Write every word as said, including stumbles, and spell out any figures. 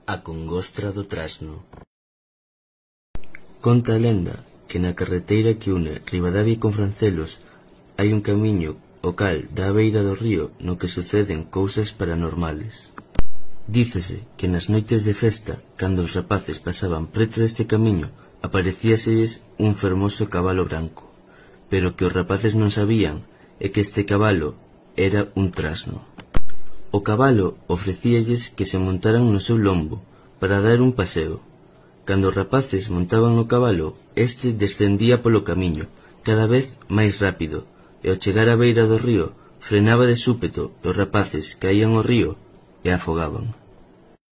A congostra do trasno. Conta a lenda que na carreteira que une Ribadavia con Francelos hai un camiño o cal dá á beira do río no que suceden cousas paranormales. Dícese que nas noites de festa, cando os rapaces pasaban preto deste camiño, aparecíaselles un fermoso cabalo branco, pero que os rapaces non sabían é que este cabalo era un trasno. O cabalo ofrecíalles que se montaran no seu lombo para dar un paseo. Cando os rapaces montaban no cabalo, este descendía polo camiño, cada vez máis rápido, e ao chegar á beira do río frenaba de súpeto e os rapaces caían ao río e afogaban.